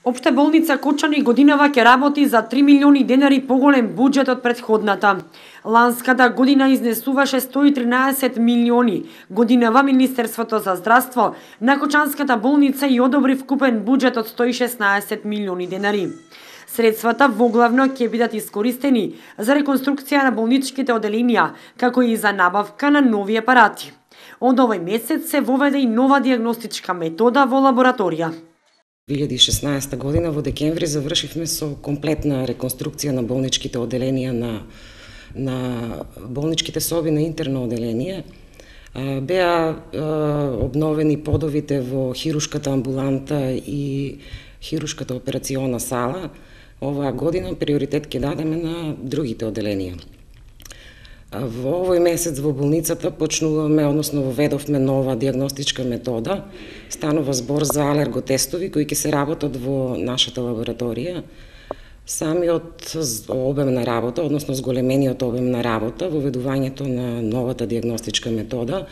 Општа болница Кочани годинава ќе работи за 3 милиони денари поголем буџет од претходната. Ланската година изнесуваше 113 милиони. Годинава Министерството за здравство на Кочанската болница и одобри вкупен буџет од 116 милиони денари. Средствата воглавно ќе бидат искористени за реконструкција на болничките оделенија, како и за набавка на нови апарати. Од овој месец се воведе и нова диагностичка метода во лабораторија. 2016 година во декември завршивме со комплетна реконструкција на болничките оделенија на болничките соби на интерно оделение. Беа обновени подовите во хирушката амбуланта и хирушката операциона сала. Оваа година приоритет ќе дадеме на другите оделенија. Во овој месец во болницата почнуваме, односно воведовме нова диагностичка метода. Станува збор за алерготестови кои ќе се работат во нашата лабораторија. Самиот обем на работа, односно зголемениот обем на работа, воведувањето на новата диагностичка метода,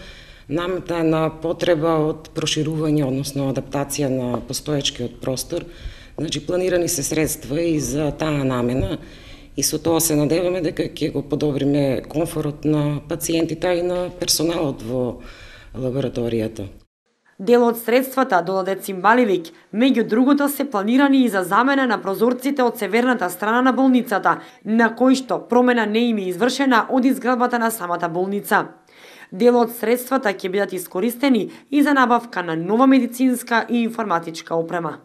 намета на потреба од проширување, односно адаптација на постоечкиот простор. Значи, планирани се средства и за таа намена, и со тоа се надеваме дека ќе го подобриме комфорот на пациентите и на персоналот во лабораторијата. Дел од средствата додаде Цимбаливик, меѓу другото се планирани и за замена на прозорците од северната страна на болницата, на кои што промена не им е извршена од изградбата на самата болница. Дел од средствата ќе бидат искористени и за набавка на нова медицинска и информатичка опрема.